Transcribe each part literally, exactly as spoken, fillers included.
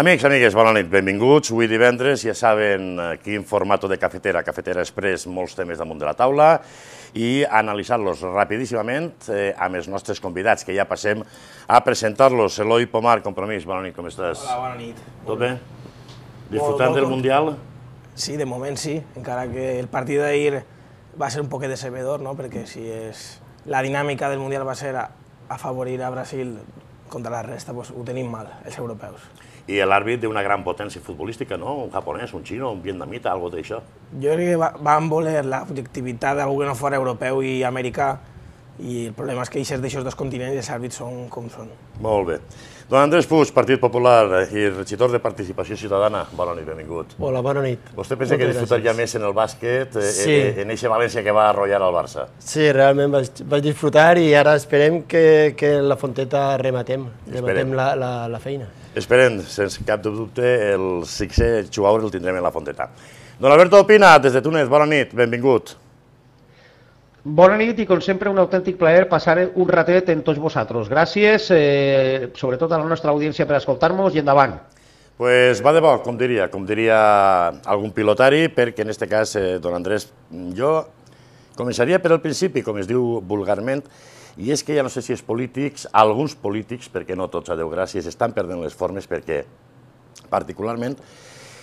Amics, amigues, bona nit, benvinguts. Avui divendres ja saben aquí en formato de cafetera, Cafetera Express, molts temes damunt de la taula i analitzar-los rapidíssimament amb els nostres convidats, que ja passem a presentar-los. Eloi Pomar, Compromís, bona nit, com estàs? Hola, bona nit. Tot bé? Disfrutant del Mundial? Sí, de moment sí, encara que el partit d'ahir va ser un poquet decebedor, no? Perquè si és... la dinàmica del Mundial va ser afavorir a Brasil contra la resta, doncs ho tenim mal, els europeus. I l'àrbit d'una gran potència futbolística, no? Un japonès, un xino, un vietnamita, algo d'això. Jo crec que van voler l'objectivitat d'algú que no fora europeu i americà, i el problema és que aquests d'aixòs dos continents els àrbits són com són. Molt bé. Don Andrés Puig, Partit Popular i regidor de Participació Ciutadana, bona nit, benvingut. Hola, bona nit. Vostè pensa que disfrutaria més en el bàsquet, en eixa València que va arrollar al Barça? Sí, realment vaig disfrutar i ara esperem que en la Fonteta rematem, rematem la feina. Esperem, sense cap dubte, el sisè jugador el tindrem en la Fonteta. Don Alberto Opina, des de Túnez, bona nit, benvingut. Bona nit i, com sempre, un autèntic plaer passar un ratet amb tots vosaltres. Gràcies, sobretot a la nostra audiència per escoltar-nos i endavant. Pues va de bo, com diria, com diria algun pilotari, perquè en aquest cas, don Andrés, jo començaria per al principi, com es diu vulgarment, i és que ja no sé si els polítics, alguns polítics, perquè no tots, a Déu gràcies, estan perdent les formes perquè, particularment,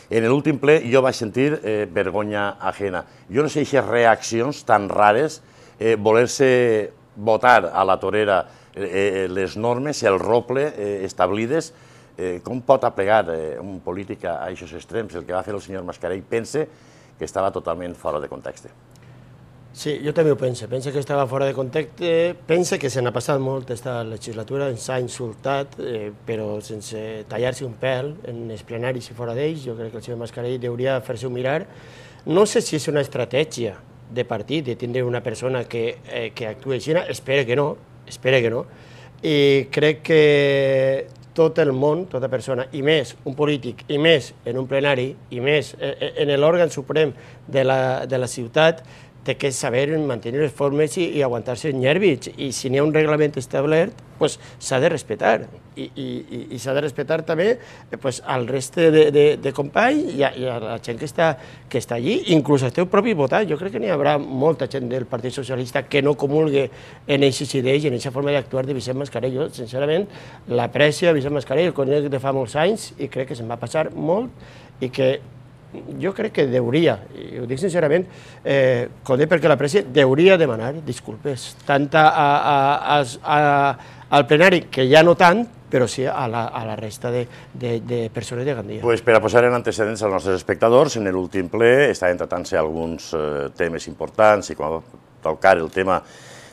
en l'últim ple jo vaig sentir vergonya ajena. Jo no sé si aquestes reaccions tan rares, voler-se votar a la torera les normes, el rople establides, com pot aplegar un polític a aquests extrems? El que va fer el senyor Mascarell pense que estava totalment fora de context. Sí, jo també ho penso. Penso que estava fora de context. Penso que se n'ha passat molt aquesta legislatura, ens ha insultat, però sense tallar-se un pèl en els plenaris i fora d'ells. Jo crec que el senyor Mascarell hauria de fer-se-ho mirar. No sé si és una estratègia de partit, de tindre una persona que actuï així. Espero que no, espero que no. I crec que tot el món, tota persona, i més un polític, i més en un plenari, i més en l'òrgan suprem de la ciutat, té que saber mantenir les formes i aguantar-se els nervis. I si n'hi ha un reglament establert, s'ha de respectar. I s'ha de respectar també al reste de companys i a la gent que està allí, inclús el teu propi votat. Jo crec que n'hi haurà molta gent del Partit Socialista que no comulgue en aquestes idees i en aquesta forma d'actuar de Vicent Mascarell. Jo, sincerament, l'aprecio a Vicent Mascarell, el conec de fa molts anys, i crec que se'n va passar molt i que jo crec que hauria, i ho dic sincerament, conec perquè l'aprecio, hauria demanar disculpes, tant al plenari, que ja no tant, però sí a la resta de persones de Gandia. Per a posar en antecedents als nostres espectadors, en l'últim ple estaven tratant-se alguns temes importants i quan va tocar el tema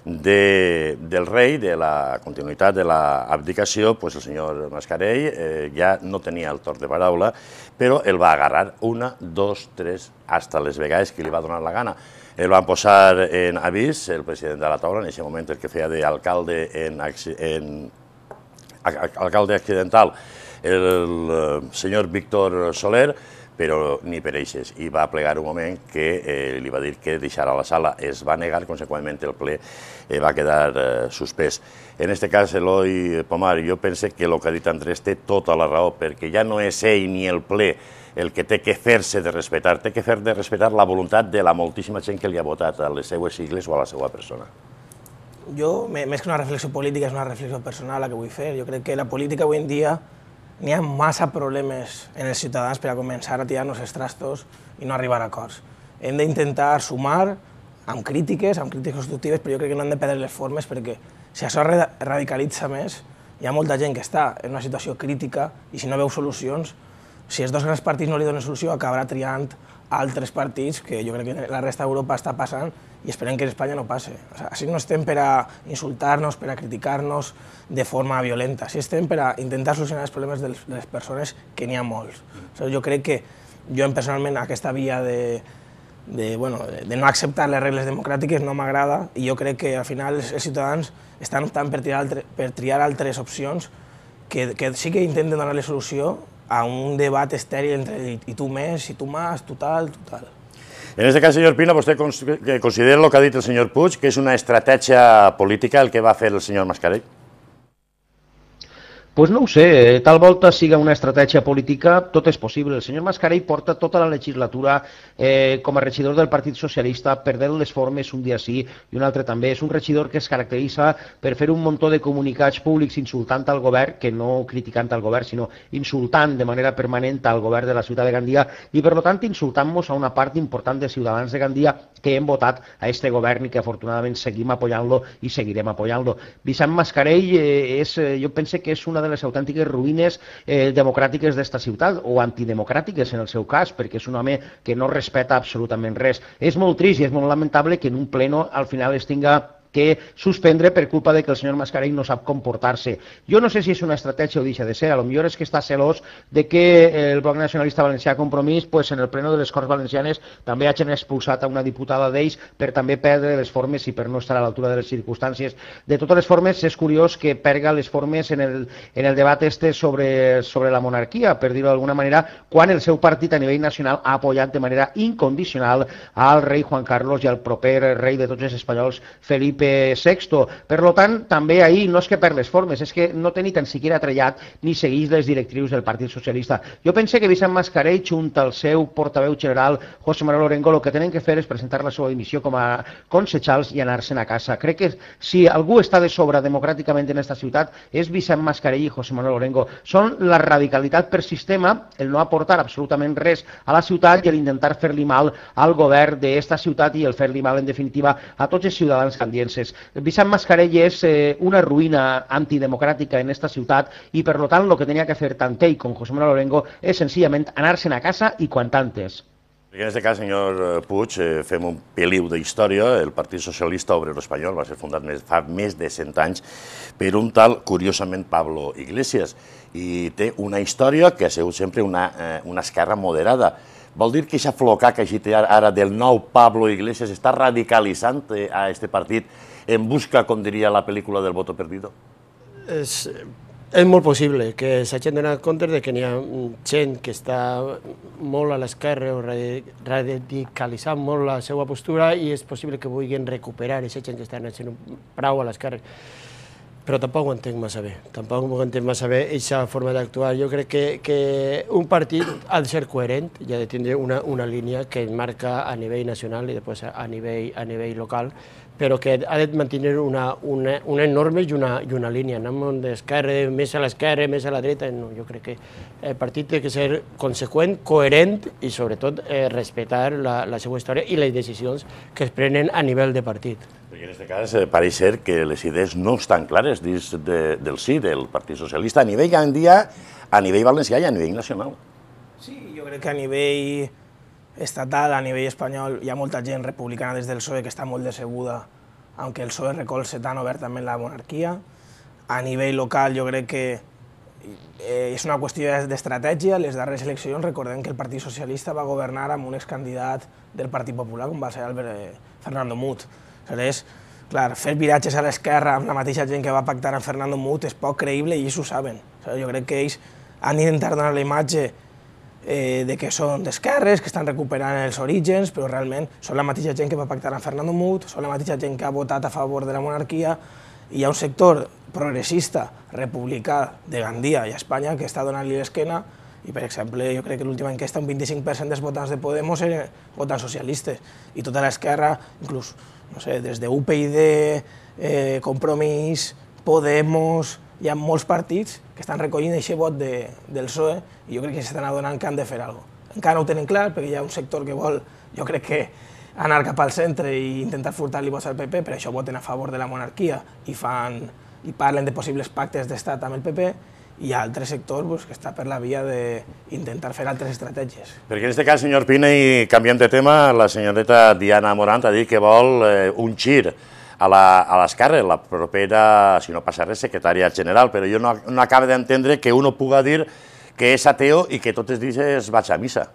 del rei, de la continuïtat de l'abdicació, el senyor Mascarell ja no tenia el torn de paraula, però el va agarrar una, dos, tres, fins les vegades que li va donar la gana. El van posar en avís, el president de la taula, en aquest moment el que feia d'alcalde accidental, el senyor Víctor Soler, però ni per eixes, i va plegar un moment que li va dir que deixara la sala. Es va negar, conseqüentment el ple va quedar suspès. En aquest cas, Eloi Pomar, jo penso que el que ha dit Andrés té tota la raó, perquè ja no és ell ni el ple el que té que fer-se de respectar, té que fer de respectar la voluntat de la moltíssima gent que li ha votat a les seues sigles o a la seva persona. Jo, més que una reflexió política, és una reflexió personal la que vull fer. Jo crec que la política avui en dia n'hi ha massa problemes en els ciutadans per a començar a tirar-nos els trastos i no arribar a acords. Hem d'intentar sumar amb crítiques, amb crítiques constructives, però jo crec que no hem de perdre les formes perquè si això radicalitza més, hi ha molta gent que està en una situació crítica i si no veu solucions, si els dos grans partits no li donen solució, acabarà triant altres partits que jo crec que la resta d'Europa està passant i esperem que en Espanya no passi. Així no estem per a insultar-nos, per a criticar-nos de forma violenta, així estem per a intentar solucionar els problemes de les persones, que n'hi ha molts. Jo crec que jo personalment aquesta via de no acceptar les regles democràtiques no m'agrada i jo crec que al final els ciutadans estan optant per triar altres opcions que sí que intenten donar-li solució a un debat estèril entre i tu més, i tu més, tu tal, tu tal. En aquest cas, senyor Pina, vostè considera el que ha dit el senyor Puig, que és una estratègia política el que va fer el senyor Mascarell? Pues no ho sé, tal volta siga una estratègia política, tot és possible. El senyor Mascarell porta tota la legislatura eh, com a regidor del Partit Socialista, perdent les formes un dia sí i un altre també. És un regidor que es caracteritza per fer un muntó de comunicats públics insultant al govern, que no criticant al govern, sinó insultant de manera permanent al govern de la ciutat de Gandia i, per tant, insultant-nos a una part important de ciutadans de Gandia que hem votat a este govern i que, afortunadament, seguim apoyant-lo i seguirem apoyant-lo. Vicent Mascarell, eh, és, eh, jo penso que és una de les autèntiques ruïnes eh, democràtiques d'esta ciutat, o antidemocràtiques en el seu cas, perquè és un home que no respeta absolutament res. És molt trist i és molt lamentable que en un pleno al final es tinga que suspendre per culpa de que el senyor Mascarell no sap comportar-se. Jo no sé si és una estratègia o deixa de ser, a lo millor és que està celós de que el Bloc Nacionalista Valencià Compromís pues, en el pleno de les Corts Valencianes també hagin expulsat a una diputada d'ells per també perdre les formes i per no estar a l'altura de les circumstàncies. De totes les formes, és curiós que perga les formes en el, en el debat este sobre, sobre la monarquia, per dir-ho d'alguna manera, quan el seu partit a nivell nacional ha apoyat de manera incondicional al rei Juan Carlos i al proper rei de tots els espanyols, Felipe sexto. Per tant, també ahir no és que per les formes, és que no té ni tan siquiera trellat ni segueix les directrius del Partit Socialista. Jo pense que Vicent Mascarell, junt al seu portaveu general, José Manuel Orengo, el que tenen que fer és presentar la seva dimissió com a concejals i anar-se'n a casa. Crec que si algú està de sobre democràticament en aquesta ciutat és Vicent Mascarell i José Manuel Orengo. Són la radicalitat per sistema, el no aportar absolutament res a la ciutat i l'intentar fer-li mal al govern d'esta ciutat i el fer-li mal, en definitiva, a tots els ciutadans candiens. Vicent Mascarell és eh, una ruïna antidemocràtica en esta ciutat i, per tant, el que tenia que fer tant ell com José Manuel Orengo és senzillament anar-se'n a casa i quant antes. En aquest cas, senyor Puig, eh, fem un peliu d'història. El Partit Socialista Obrero Espanyol va ser fundat més, fa més de cent anys per un tal, curiosament, Pablo Iglesias, i té una història que ha sigut sempre una, eh, una esquerra moderada. Vol dir que aquest flocar que agita ara del nou Pablo Iglesias està radicalitzant a aquest partit en busca, com diria la pel·lícula del voto perdido? És, és molt possible que s'hagin donat compte de que n'hi ha gent que està molt a l'esquerra o radicalitzant molt la seva postura i és possible que vulguin recuperar aquesta gent que està anant prou a l'esquerra. Però tampoc ho entenc massa bé, tampoc ho entenc massa bé aquesta forma d'actuar. Jo crec que, que un partit ha de ser coherent i ha de tindre una, una línia que es marca a nivell nacional i després a nivell, a nivell local, però que ha de mantenir una, una, una norma i una, i una línia. Anem d'esquerra, més a l'esquerra, més a la dreta, no. Jo crec que el partit té que ser conseqüent, coherent i sobretot eh, respectar la, la seva història i les decisions que es prenen a nivell de partit. Perquè en aquest cas eh, pareix ser que les idees no estan clares dins de, del sí del Partit Socialista a nivell gandia, a nivell valencià i a nivell nacional. Sí, jo crec que a nivell estatal, a nivell espanyol, hi ha molta gent republicana des del P S O E que està molt decebuda, aunque el P S O E recolze tan obertament la monarquia. A nivell local jo crec que eh, és una qüestió d'estratègia. Les darreres eleccions recordem que el Partit Socialista va governar amb un excandidat del Partit Popular, com va ser Albert, eh, Fernando Mut. Aleshores, clar, fer viratges a l'esquerra amb la mateixa gent que va pactar amb Fernando Mut és poc creïble i ells ho saben. Jo crec que ells han d'intentar donar la imatge Eh, de que són d'esquerres, que estan recuperant els orígens, però realment són la mateixa gent que va pactar amb Fernando Mut, són la mateixa gent que ha votat a favor de la monarquia, i hi ha un sector progressista, republicà de Gandia i a Espanya que està donant-li l'esquena, i per exemple, jo crec que l'última enquesta un vint-i-cinc per cent dels votants de Podemos eren votants socialistes, i tota l'esquerra, inclús, no sé, des de U P y D, eh, Compromís, Podemos, hi ha molts partits que estan recollint aquest vot de, del P S O E i jo crec que s'estan adonant que han de fer alguna cosa. Encara no ho tenen clar perquè hi ha un sector que vol, jo crec que, anar cap al centre i intentar furtar-li vots al P P, per això voten a favor de la monarquia i, fan, i parlen de possibles pactes d'estat amb el P P, i hi ha altre sector pues, que està per la via d'intentar fer altres estratègies. Perquè en aquest cas, senyor Pina, i canviem de tema, la senyoreta Diana Morant ha dit que vol eh, un gir a l'esquerra, la propera, si no passa res, secretària general, però jo no, no acabo d'entendre que uno puga dir que és ateo i que tots els dies vaig a missa.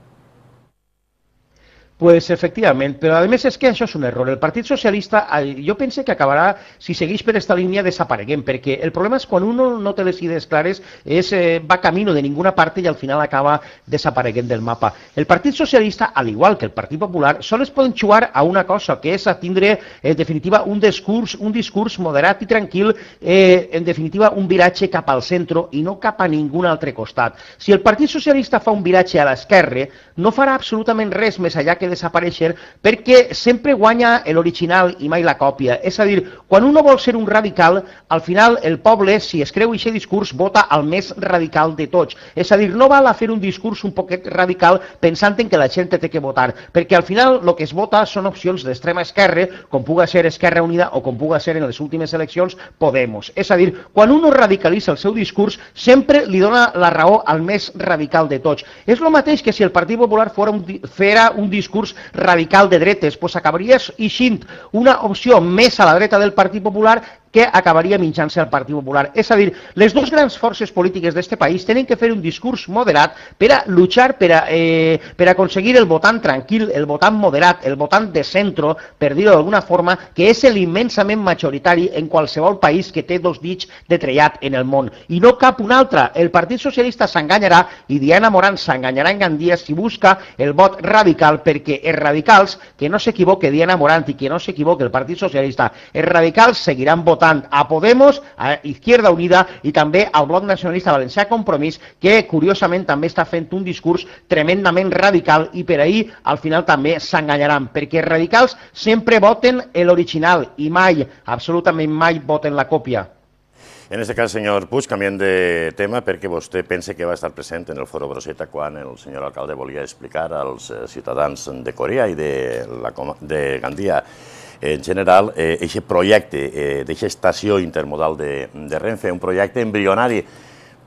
Pues efectivament, però a més és que això és un error. El Partit Socialista, jo pense que acabarà, si segueix per esta línia, desapareguent, perquè el problema és quan uno no té les idees clares, és, eh, va camino de ninguna parte i al final acaba desapareguent del mapa. El Partit Socialista, al igual que el Partit Popular, sols poden jugar a una cosa, que és a tindre, en definitiva, un discurs, un discurs moderat i tranquil, eh, en definitiva, un viratge cap al centre i no cap a ningú altre costat. Si el Partit Socialista fa un viratge a l'esquerra, no farà absolutament res més allà que desaparèixer, perquè sempre guanya l'original i mai la còpia. És a dir, quan uno vol ser un radical, al final el poble, si es creu aquest discurs, vota al més radical de tots. És a dir, no val a fer un discurs un poquet radical pensant en que la gent té que votar, perquè al final el que es vota són opcions d'extrema esquerra, com puga ser Esquerra Unida o com puga ser en les últimes eleccions Podemos. És a dir, quan uno radicalitza el seu discurs, sempre li dona la raó al més radical de tots. És el mateix que si el Partit Popular fora un, fera un discurs radical de dretes, doncs acabaria eixint una opció més a la dreta del Partit Popular que acabaria minxant-se al Partit Popular. És a dir, les dues grans forces polítiques d'aquest país tenen que fer un discurs moderat per a luchar, per a, eh, per a aconseguir el votant tranquil, el votant moderat, el votant de centre, per dir-ho d'alguna forma, que és l'immensament majoritari en qualsevol país que té dos dits de trellat en el món. I no cap un altre. El Partit Socialista s'enganyarà i Diana Morant s'enganyarà en Gandia si busca el vot radical, perquè els radicals, que no s'equivoque Diana Morant i que no s'equivoque el Partit Socialista, els radicals seguiran votant a Podemos, a Izquierda Unida i també al Bloc Nacionalista Valencià Compromís, que curiosament també està fent un discurs tremendament radical i per ahir al final també s'enganyaran, perquè els radicals sempre voten l'original i mai, absolutament mai, voten la còpia. En aquest cas, senyor Puig, canviem de tema perquè vostè pensa que va estar present en el Foro Broseta quan el senyor alcalde volia explicar als ciutadans de Corea i de, la, de Gandia en general, aquest projecte d'aquesta estació intermodal de, de Renfe, un projecte embrionari,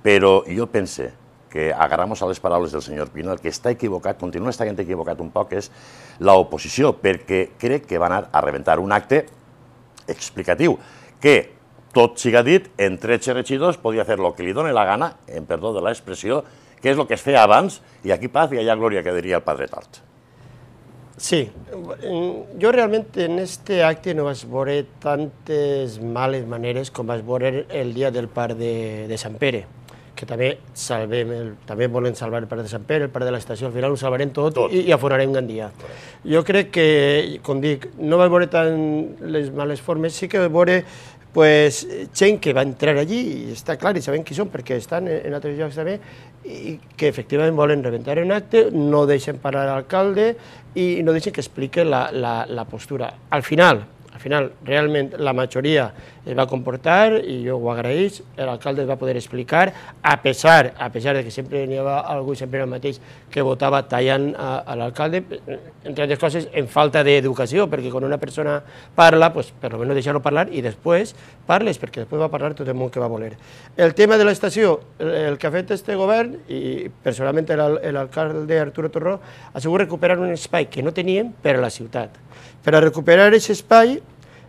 però jo pense que, agarramos a les paraules del senyor Pino, el que està equivocat, continua estant equivocat un poc, és l'oposició, perquè crec que va anar a rebentar un acte explicatiu, que, tot siga dit, en tretze regidors podia fer el que li doni la gana, en perdó de l'expressió, que és el que es feia abans, i aquí paz i allà glòria, que diria el padre Tort. Sí, jo realment en este acte no vaig veure tantes males maneres com vaig veure el dia del parc de, de Sant Pere, que també salvem, el, també volen salvar el parc de Sant Pere, el parc de l'estació, al final ho salvarem tot, tot. i, i afonarem Gandia. Jo crec que, com dic, no vaig veure tant les males formes, sí que vaig veure pues, gent que va entrar allí, i està clar, i sabem qui són, perquè estan en, en altres llocs també, i que efectivament volen rebentar un acte, no deixen parlar l'alcalde i no deixen que expliqui la, la, la postura. Al final, al final, realment, la majoria es va comportar i jo ho agraeix, l'alcalde va poder explicar, a pesar, a pesar de que sempre n'hi havia algú, sempre el mateix, que votava tallant a, a l'alcalde, entre altres coses, en falta d'educació, perquè quan una persona parla, pues, per almenys deixar-lo parlar i després parles, perquè després va parlar tot el món que va voler. El tema de l'estació, el que ha fet este govern, i personalment l'alcalde Arturo Torró, ha sigut recuperar un espai que no teníem per a la ciutat. Per a recuperar aquest espai,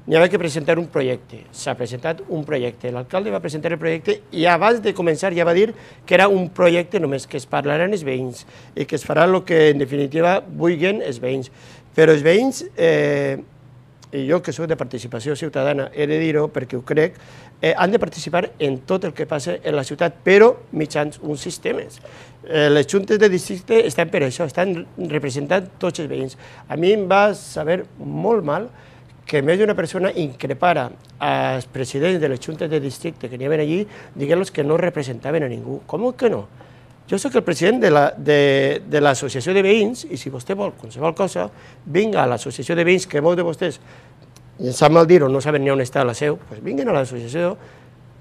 n'hi havia que presentar un projecte. S'ha presentat un projecte. L'alcalde va presentar el projecte i abans de començar ja va dir que era un projecte només que es parlaran els veïns i que es farà el que en definitiva vulguin els veïns. Però els veïns, eh, i jo que soc de participació ciutadana he de dir-ho perquè ho crec, eh, han de participar en tot el que passa en la ciutat, però mitjans uns sistemes. Eh, les juntes de districte estan per això, estan representant tots els veïns. A mi em va saber molt mal que més d'una persona increpara als presidents de les juntes de districte que n'hi havia allí, dient-los que no representaven a ningú. Com que no? Jo soc el president de l'associació de veïns i si vostè vol qualsevol cosa, vinga a l'associació de veïns, que molts de vostès, i em sap mal dir-ho, no saben ni on està la seu, doncs vinguin a l'associació,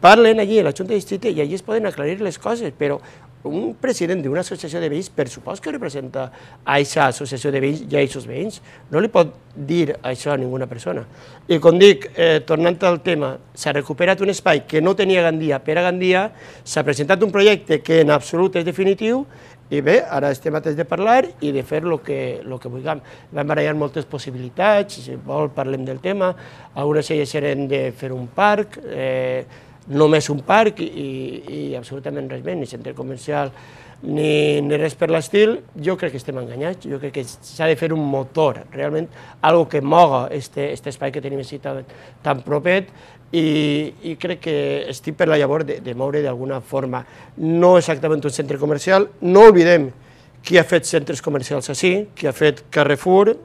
parlen allí a la junta de districte i allí es poden aclarir les coses, però un president d'una associació de veïns, per supost que representa a aquesta associació de veïns i a aquests veïns, no li pot dir això a ninguna persona. I com dic, eh, tornant al tema, s'ha recuperat un espai que no tenia Gandia per a Gandia, s'ha presentat un projecte que en absolut és definitiu, i bé, ara estem atents de parlar i de fer el que, el que vulguem. Vam barallar moltes possibilitats, si vol parlem del tema, algunes d'elles eren de fer un parc, eh, només un parc i, i absolutament res més, ni centre comercial ni, ni res per l'estil, jo crec que estem enganyats, jo crec que s'ha de fer un motor, realment, algo que moga este, este espai que tenim així tan, tan propet, i, i crec que estic per la llavor de, de moure d'alguna forma, no exactament un centre comercial, no oblidem qui ha fet centres comercials així, qui ha fet Carrefour,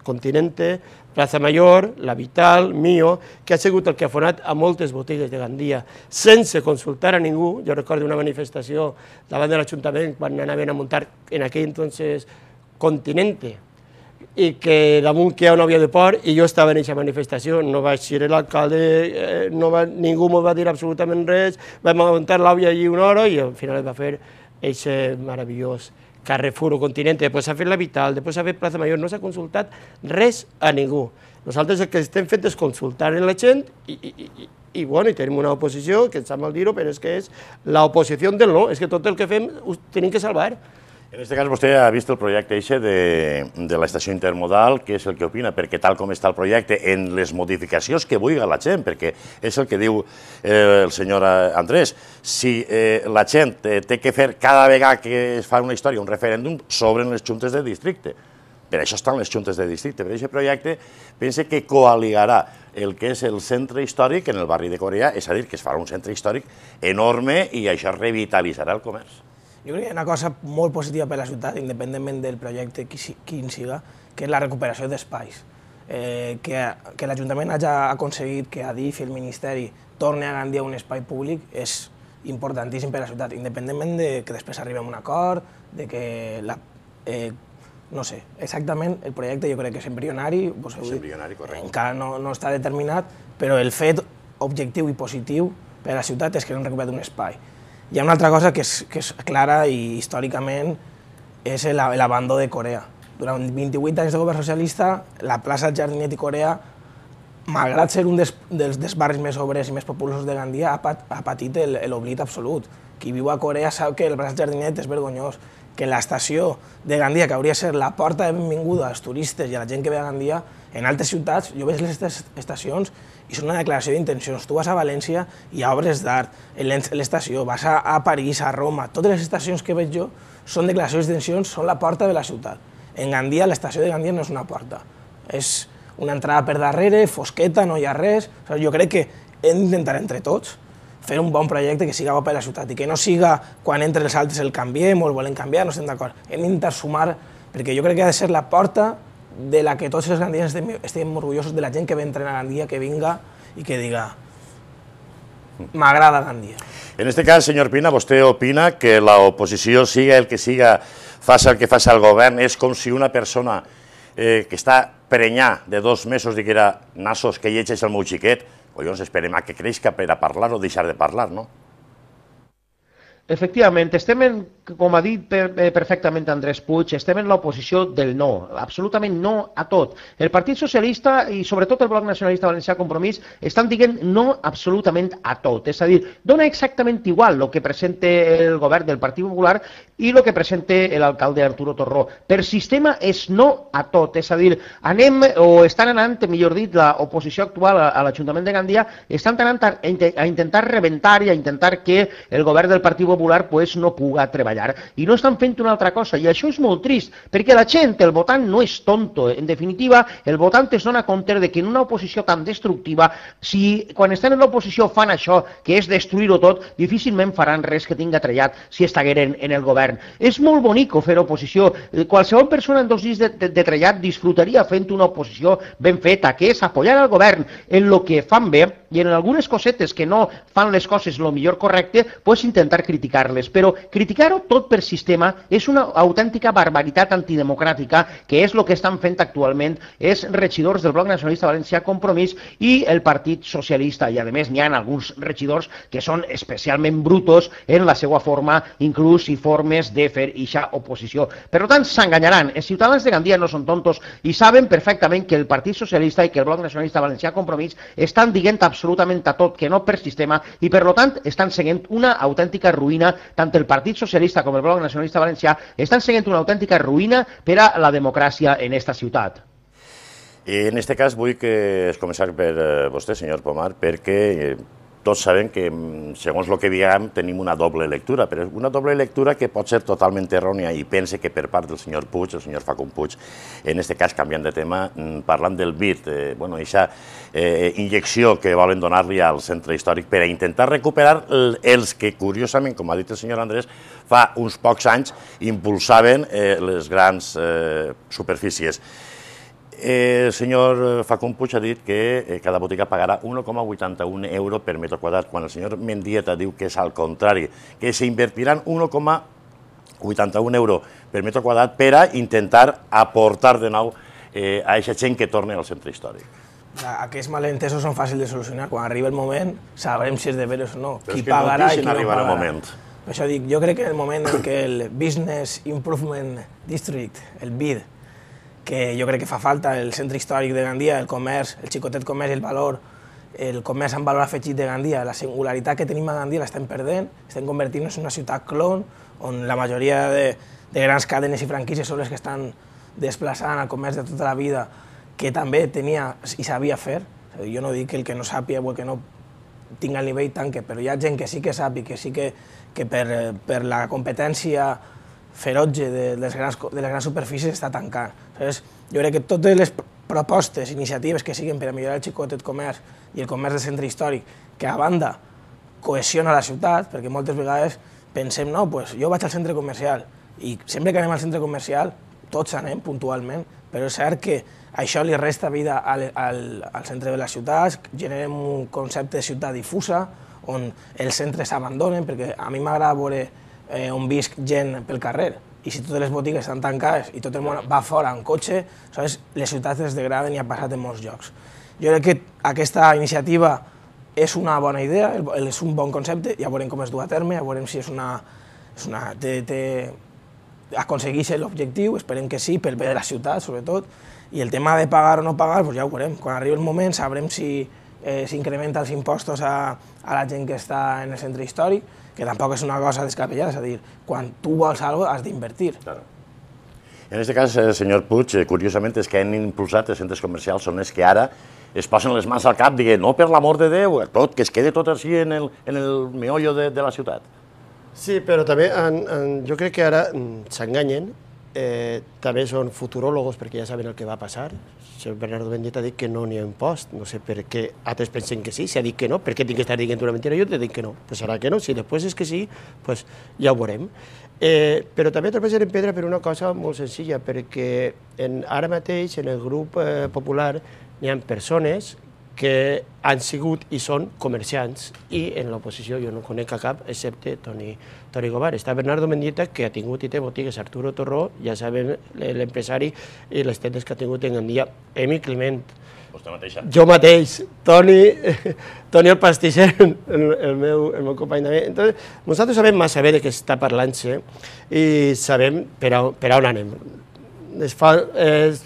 Continente, Plaza Mayor, La Vital, Mio, que ha sigut el que ha fonat a moltes botigues de Gandia, sense consultar a ningú. Jo recordo una manifestació davant de l'Ajuntament quan anaven a muntar en aquell entonces Continente, i que damunt que hi ha una via de port, i jo estava en aquesta manifestació, no vaig ser l'alcalde, eh, no va, ningú m'ho va dir absolutament res, vam muntar l'àvia allí una hora i al final es va fer aquest meravellós Carrefour o Continente, després s'ha fet La Vital, després s'ha fet Plaza Mayor, no s'ha consultat res a ningú. Nosaltres el que estem fent és consultar en la gent i, i, i, i, bueno, i tenim una oposició, que em sap mal dir-ho, però és que és l'oposició del no, és que tot el que fem ho tenim que salvar. En aquest cas, vostè ha vist el projecte eixe de, de l'estació intermodal, què és el que opina? Perquè tal com està el projecte, en les modificacions que vulgui la gent, perquè és el que diu eh, el senyor Andrés, si eh, la gent eh, té que fer cada vegada que es fa una història, un referèndum, s'obren les juntes de districte. Per això estan les juntes de districte. Per aquest projecte pense que coaligarà el que és el centre històric en el barri de Corea, és a dir, que es farà un centre històric enorme i això revitalitzarà el comerç. Jo crec que hi ha una cosa molt positiva per a la ciutat, independentment del projecte quin siga, que és la recuperació d'espais. Eh, que que l'Ajuntament hagi aconseguit que Adif i el Ministeri torni a Gandia un espai públic és importantíssim per a la ciutat, independentment de que després arribem a un acord, de que la... Eh, no sé, exactament el projecte jo crec que és embrionari, és embrionari, correcte. Encara no, no està determinat, però el fet objectiu i positiu per a la ciutat és que no han recuperat un espai. Hi ha una altra cosa que és, que és clara i històricament és l'abandó de Corea. Durant vint-i-vuit anys de govern socialista, la plaça Jardinet i Corea, malgrat ser un dels, dels, dels barris més obrers i més populosos de Gandia, ha, pat, ha patit l'oblit absolut. Qui viu a Corea sap que el plaça Jardinet és vergonyós, que l'estació de Gandia, que hauria de ser la porta de benvinguda als turistes i a la gent que ve a Gandia, en altres ciutats, jo veig les estacions i és una declaració d'intencions. Tu vas a València i hi ha obres d'art, l'estació, vas a, a París, a Roma, totes les estacions que veig jo són declaracions d'intencions, són la porta de la ciutat. En Gandia, l'estació de Gandia no és una porta, és una entrada per darrere, fosqueta, no hi ha res. O sigui, jo crec que hem d'intentar entre tots fer un bon projecte que siga bo per a la ciutat i que no siga quan entre els altres el canviem o el volem canviar, no estem d'acord. Hem d'intentar sumar, perquè jo crec que ha de ser la porta de la que tots els gandians estem, estem orgullosos de la gent que ve a entrenar a Gandia, que vinga i que diga m'agrada Gandia. En aquest cas, senyor Pina, vostè opina que l'oposició, siga el que siga, faci el que faci el govern, és com si una persona eh, que està prenyà de dos mesos diguera nassos que llegeix el meu xiquet, collons, esperem a que creixca per a parlar o deixar de parlar, no? Efectivament, estem, en, com ha dit perfectament Andrés Puig, estem en l'oposició del no, absolutament no a tot. El Partit Socialista i sobretot el Bloc Nacionalista Valencià Compromís estan dient no absolutament a tot. És a dir, dona exactament igual el que presenta el govern del Partit Popular i el que presenta l'alcalde Arturo Torró. Per sistema és no a tot. És a dir, anem, o estan anant, millor dit, l'oposició actual a l'Ajuntament de Gandia, estan anant a intentar rebentar i a intentar que el govern del Partit Popular Popular pues, no puga treballar. I no estan fent una altra cosa, i això és molt trist, perquè la gent, el votant, no és tonto. En definitiva, el votant es dona compte de que en una oposició tan destructiva, si quan estan en l'oposició fan això, que és destruir-ho tot, difícilment faran res que tinga trellat si estagueren en el govern. És molt bonico fer oposició. Qualsevol persona en dos dies de, de, de trellat disfrutaria fent una oposició ben feta, que és apoyar al govern en el que fan bé i en algunes cosetes que no fan les coses el millor correcte, pues intentar criticar-les. Però criticar-ho tot per sistema és una autèntica barbaritat antidemocràtica, que és el que estan fent actualment els regidors del Bloc Nacionalista Valencià Compromís i el Partit Socialista. I a més n'hi ha alguns regidors que són especialment brutos en la seva forma, inclús i formes de fer eixa oposició. Per tant, s'enganyaran. Els ciutadans de Gandia no són tontos i saben perfectament que el Partit Socialista i que el Bloc Nacionalista Valencià Compromís estan dient absolutament a tot que no per sistema i per tant estan seguint una autèntica ruïna, tant el Partit Socialista com el Bloc Nacionalista Valencià estan seguint una autèntica ruïna per a la democràcia en esta ciutat. I en aquest cas vull que es començar per vostè, senyor Pomar, perquè tots sabem que, segons el que diguem, tenim una doble lectura, però una doble lectura que pot ser totalment errònia i pense que per part del senyor Puig, el senyor Facund Puig, en aquest cas, canviant de tema, parlant del B I D, eh, bueno, aquesta eh, injecció que volen donar-li al centre històric per a intentar recuperar els que, curiosament, com ha dit el senyor Andrés, fa uns pocs anys impulsaven eh, les grans eh, superfícies. El senyor Facund Puig ha dit que cada botiga pagarà un coma vuitanta-un euro per metre quadrat, quan el senyor Mendieta diu que és al contrari, que s'invertiran un coma vuitanta-un euro per metre quadrat per a intentar aportar de nou a aquesta gent que torni al centre històric. Aquests malentesos són fàcils de solucionar. Quan arriba el moment sabrem si és de veres o no, qui pagarà i qui no pagarà. Per això dic, jo crec que en el moment en què el Business Improvement District, el B I D, que jo crec que fa falta, el centre històric de Gandia, el comerç, el xicotet comerç i el valor, el comerç amb valor afegit de Gandia, la singularitat que tenim a Gandia l'estem perdent, estem convertint-nos en una ciutat clon, on la majoria de, de grans cadenes i franquícies són les que estan desplaçant el comerç de tota la vida, que també tenia i sabia fer. Jo no dic que el que no sàpiga o el que no tinga el nivell tanque, però hi ha gent que sí que sap i que sí que, que per, per la competència ferotge de les grans, de les grans superfícies està tancant. Aleshores, jo crec que totes les propostes, iniciatives que siguin per a millorar el xicotet comerç i el comerç del centre històric, que a banda cohesiona la ciutat, perquè moltes vegades pensem, no, pues jo vaig al centre comercial i sempre que anem al centre comercial tots anem puntualment, però és cert que això li resta vida al, al, al centre de les ciutats, generem un concepte de ciutat difusa, on els centres s'abandonen, perquè a mi m'agrada veure Eh, on visc gent pel carrer, i si totes les botigues estan tancades i tot el món va fora en cotxe, saps, les ciutats es degraden i ha passat en molts llocs. Jo crec que aquesta iniciativa és una bona idea, és un bon concepte, ja veurem com es du a terme, ja veurem si és una... És una té, té, aconsegueix l'objectiu, esperem que sí, pel bé de la ciutat, sobretot, i el tema de pagar o no pagar, doncs ja ho veurem. Quan arribi el moment sabrem si eh, s'incrementa els impostos a, a la gent que està en el centre històric, que tampoc és una cosa descabellada, és a dir, quan tu vols alguna cosa has d'invertir. Claro. En aquest cas, senyor Puig, curiosament, els que han impulsat els centres comercials són els que ara es posen les mans al cap, dient, no, per l'amor de Déu, tot, que es quede tot així en el, en el meollo de, de la ciutat. Sí, però també en, en, jo crec que ara s'enganyen, eh, també són futuròlogos perquè ja saben el que va passar. El senyor Bernardo Mendieta ha dit que no n'hi ha impost, no sé per què altres pensen que sí, si ha dit que no, per què tinc que estar dient una mentira? Jo te dic que no, pues serà que no, si després és que sí, pues ja ho veurem. Eh, però també trepitgen en pedra per una cosa molt senzilla, perquè en, ara mateix en el grup eh, popular n'hi ha persones que han sigut i són comerciants, i en l'oposició jo no conec a cap, excepte Toni, Toni Govar. Està Bernardo Mendieta, que ha tingut i té botigues, Arturo Torró, ja sabem l'empresari i les tendes que ha tingut en Gandia, Emi Climent, jo mateix, Toni, Toni el pastisser, el, el, meu, el meu company també. Entonces, nosaltres sabem massa bé de què està parlant-se i sabem per a, per a on anem. És, fa, és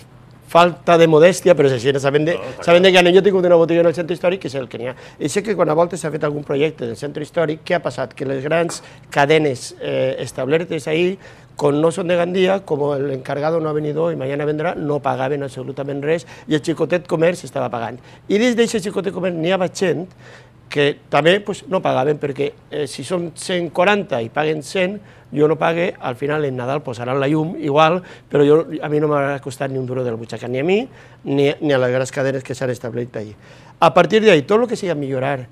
falta de modèstia, però és així, sabem de, no, sabem de que jo he tingut una botiga en el centre històric, que és el que n'hi ha. I sé que quan a voltes s'ha fet algun projecte del centre històric, què ha passat? Que les grans cadenes eh, establertes ahí, com no són de Gandia, com l'encargado no ha venido i mañana vendrà, no pagaven absolutament res i el xicotet comerç estava pagant. I des d'aquest xicotet comerç n'hi ha gent que també pues, no pagaven, perquè eh, si són cent quaranta i paguen cent, jo no pague, al final en Nadal posaran la llum igual, però jo, a mi no m'ha costat ni un duro del butxaca, ni a mi ni, ni a les grans cadenes que s'han establert allà. A partir d'ahí, tot el que sigui millorar,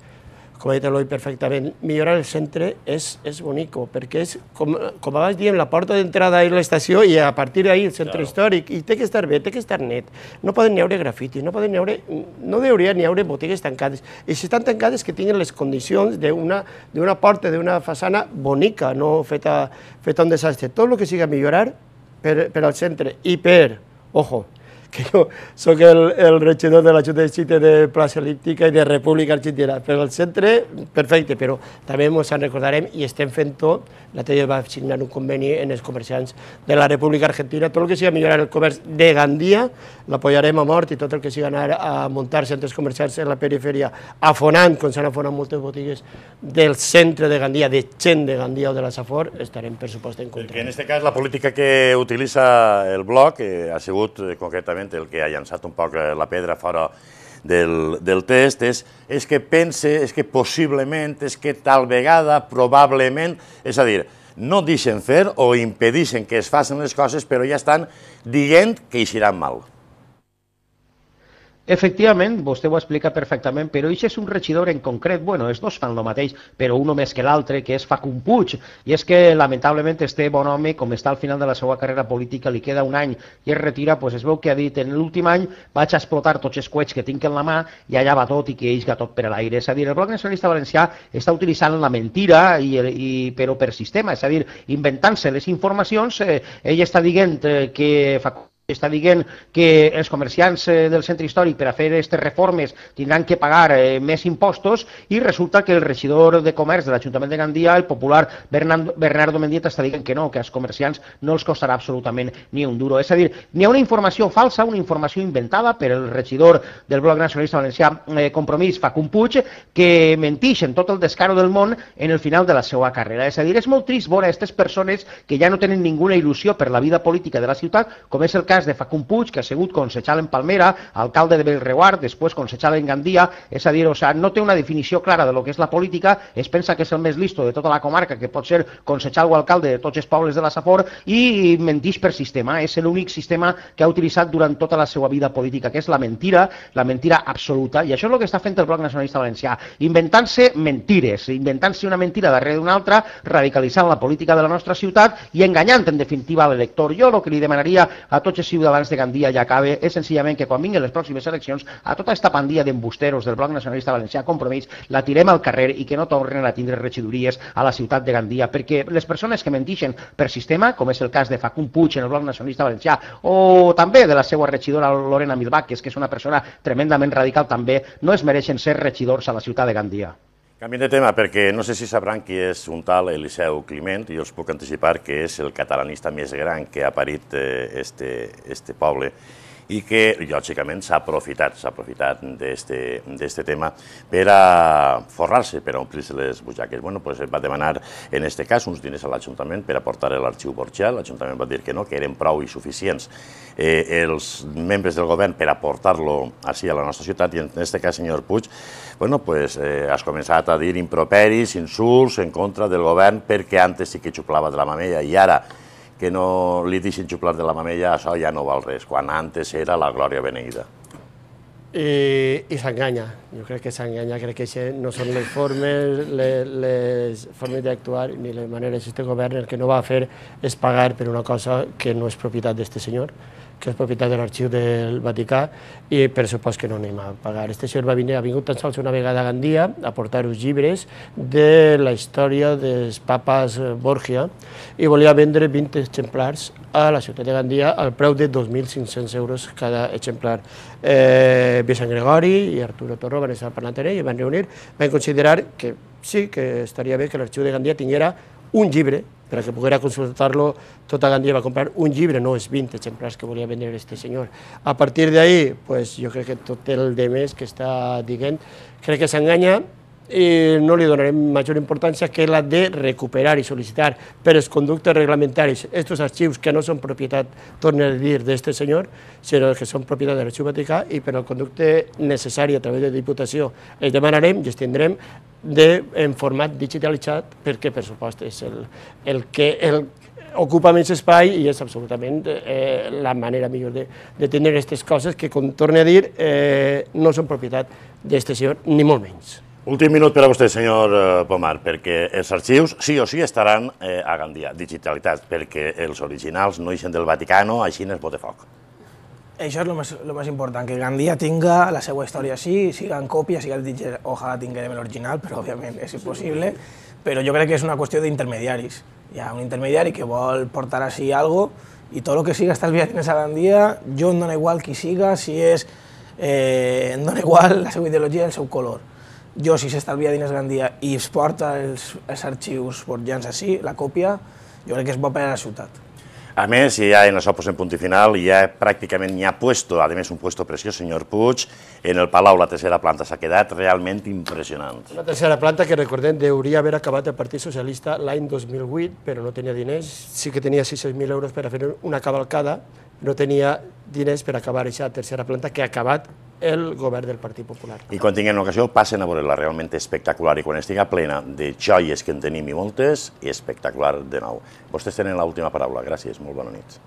com ha dit l'Eloi perfectament, millorar el centre és, és bonico, perquè és, com, com abans diem, la porta d'entrada és l'estació i a partir d'ahí el centre claro. Històric, i té que estar bé, té que estar net. No poden n'hi haure grafiti, no poden n'hi haure, no hauria n'hi haure botigues tancades. I si estan tancades que tinguin les condicions d'una d'una porta, d'una façana bonica, no feta, feta un desastre. Tot el que siga millorar per, per al centre i per, ojo, que jo soc el, el regidor de la Junta de Districte de Plaça El·líptica i de República Argentina, però el centre, perfecte, però també ens en recordarem i estem fent tot. L'altre dia va signar un conveni en els comerciants de la República Argentina, tot el que sigui millorar el comerç de Gandia, l'apoyarem a mort, i tot el que sigui anar a muntar centres comercials en la perifèria, afonant, com s'han afonat moltes botigues del centre de Gandia, de gent de Gandia o de la Safor, estarem per supost en contra. En aquest cas, la política que utilitza el bloc eh, ha sigut eh, concretament el que ha llançat un poc la pedra fora del test és que pense, és que possiblement, és que tal vegada, probablement, és a dir, no deixen fer o impedeixen que es facin les coses, però ja estan dient que eixiran mal. Efectivament, vostè ho explica perfectament, però això és un regidor en concret, bueno, els dos fan el mateix, però un més que l'altre, que és Facund Puig, i és que lamentablement este bon home, com està al final de la seva carrera política, li queda un any i es retira, doncs es veu que ha dit, en l'últim any vaig a explotar tots els coets que tinc en la mà i allà va tot i que eixga tot per a l'aire. És a dir, el Bloc Nacionalista Valencià està utilitzant la mentira, i, i, però per sistema, és a dir, inventant-se les informacions, eh, ell està dient eh, que Facund està dient que els comerciants del centre històric per a fer aquestes reformes tindran que pagar més impostos i resulta que el regidor de comerç de l'Ajuntament de Gandia, el popular Bernardo Mendieta, està dient que no, que als comerciants no els costarà absolutament ni un duro. És a dir, n'hi ha una informació falsa, una informació inventada per el regidor del Bloc Nacionalista Valencià Compromís, Facund Puig, que mentix en tot el descaro del món en el final de la seva carrera. És a dir, és molt trist veure aquestes persones que ja no tenen ninguna il·lusió per la vida política de la ciutat, com és el cas de Facund Puig, que ha sigut concejal en Palmera, alcalde de Bellreguard, després concejal en Gandia, és a dir, o sea, no té una definició clara de lo que és la política, es pensa que és el més listo de tota la comarca, que pot ser concejal o alcalde de tots els pobles de la Safor, i mentix per sistema, és l'únic sistema que ha utilitzat durant tota la seva vida política, que és la mentira, la mentira absoluta, i això és el que està fent el Bloc Nacionalista Valencià, inventant-se mentires, inventant-se una mentira darrere d'una altra, radicalitzant la política de la nostra ciutat i enganyant, en definitiva, l'elector. Jo el que li demanaria a tots els ciutadans de Gandia ja acabe és senzillament que quan vinguin les pròximes eleccions a tota aquesta pandilla d'embusteros del Bloc Nacionalista Valencià Compromís la tirem al carrer i que no tornen a tindre regidories a la ciutat de Gandia, perquè les persones que mentixen per sistema, com és el cas de Facund Puig en el Bloc Nacionalista Valencià o també de la seva regidora Lorena Milbàquez, que és una persona tremendament radical també, no es mereixen ser regidors a la ciutat de Gandia. Canviem de tema perquè no sé si sabran qui és un tal Eliseu Climent, i us puc anticipar que és el catalanista més gran que ha parit este poble i que, lògicament, s'ha aprofitat, s'ha aprofitat d'este tema per a forrar-se, per a omplir-se les butxaques. Bueno, doncs va demanar, en aquest cas, uns diners a l'Ajuntament per a portar l'arxiu Borja. L'Ajuntament va dir que no, que eren prou insuficients els membres del govern per a portar-lo així a la nostra ciutat, i en aquest cas, senyor Puig, bueno, doncs has començat a dir improperis, insults en contra del govern perquè antes sí que xuplava de la mamella i ara que no li deixin xuplar de la mamella, això ja no val res, quan antes era la glòria beneïda. I s'enganya, jo crec que s'enganya, crec que això no són les formes, les formes d'actuar ni les maneres d'aquest govern. El que no va fer és pagar per una cosa que no és propietat d'aquest senyor, que és propietat de l'arxiu del Vaticà, i per supost que no anem a pagar. Este senyor va venir, ha vingut tan sols una vegada a Gandia a portar uns llibres de la història dels papas Borgia i volia vendre vint exemplars a la ciutat de Gandia al preu de dos mil cinc-cents euros cada exemplar. Vicent Gregori i Arturo Torro van estar parlant amb ell i van reunir, van considerar que sí, que estaria bé que l'arxiu de Gandia tinguera un llibre per a que poguera consultar-lo. Tota Gandia va comprar un llibre, no els vint exemplars que volia vendre este senyor. A partir d'ahí, jo crec que tot el de més que està dient, crec que s'enganya i no li donarem major importància que la de recuperar i sol·licitar per els conductes reglamentaris aquests arxius que no són propietat, torno a dir, d'aquest senyor, sinó que són propietat de l'Arxiu Vaticà, i per al conducte necessari a través de Diputació els demanarem i els tindrem en format digitalitzat perquè, per supost, és el que ocupa menys espai i és absolutament la manera millor de tenir aquestes coses que, com torno a dir, no són propietat d'aquest senyor, ni molt menys. Últim minut per a vostè, senyor Pomar, perquè els arxius sí o sí estaran a Gandia, digitalitats, perquè els originals no ixen del Vaticano, així es bote foc. Això és el més important, que Gandia tinga la seva història així, siga en còpia, siga digital, ojalà tinguem l'original, però òbviament és impossible, però jo crec que és una qüestió d'intermediaris. Hi ha un intermediari que vol portar així alguna cosa i tot el que siga estalviat en esa Gandia, jo em dóna igual qui siga, si és, em dóna igual la seva ideologia i el seu color. Jo, si s'estalvia diners Gandia i es porta els arxius borgians així, la còpia, jo crec que és bo per a la ciutat. A més, ja en això posem punt i final, ja pràcticament n'hi ha puesto, a més un puesto preciós, senyor Puig, en el Palau la tercera planta s'ha quedat realment impressionant. Una tercera planta que, recordem, hauria haver acabat el Partit Socialista l'any dos mil vuit, però no tenia diners, sí que tenia sis-cents mil euros per a fer una cavalcada, no tenia diners per acabar aquesta tercera planta que ha acabat el govern del Partit Popular. I quan tinguem l'ocasió passen a veure-la, realment espectacular, i quan estigui plena de joies que en tenim i moltes, espectacular de nou. Vostès tenen l'última paraula. Gràcies, molt bona nit.